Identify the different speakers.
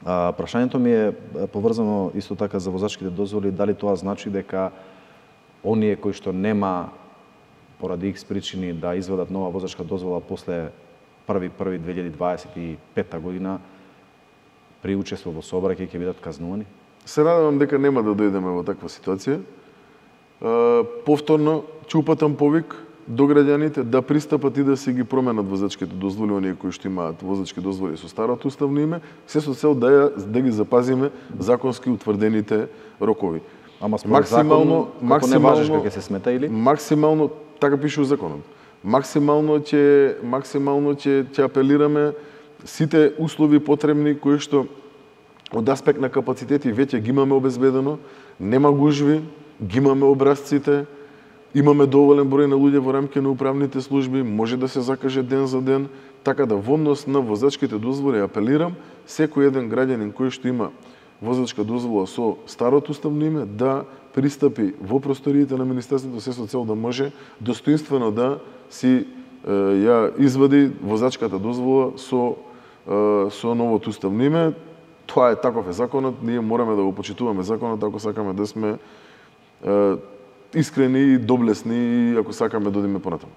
Speaker 1: Прашањето ми е поврзано исто така за возачките дозволи, дали тоа значи дека оние кои што нема поради X причини да извадат нова возачка дозвола после 1.1.2025 година при учество во сообраќај ќе бидат казнувани?
Speaker 2: Се надевам дека нема да дојдеме во таква ситуација. Повторно ќе упатам повик до граѓаните да пристапат и да си ги променат возачките дозволи, оние кои што имаат возачки дозволи со старото уставно име, се со цел да ги запазиме законски утврдените рокови.
Speaker 1: Ама според закон, како не важиш како ќе се смета или?
Speaker 2: Максимално, така пише во законот. Максимално ќе апелираме сите услови потребни кои што од аспект на капацитети веќе ги имаме обезбедено, нема гужви, ги имаме образците, имаме доволен број на луѓе во рамки на управните служби, може да се закаже ден за ден, така да во однос на возачките дозволи апелирам секој еден граѓанин кој што има возачка дозвола со старото уставно име да пристапи во просториите на Министерството се со цел да може достоинствено да си ја извади возачката дозвола со новото уставно име. Тоа е таков е законот, ние мораме да го почитуваме законот ако сакаме да сме искрени и доблесни и ако сакаме да одиме понатаму.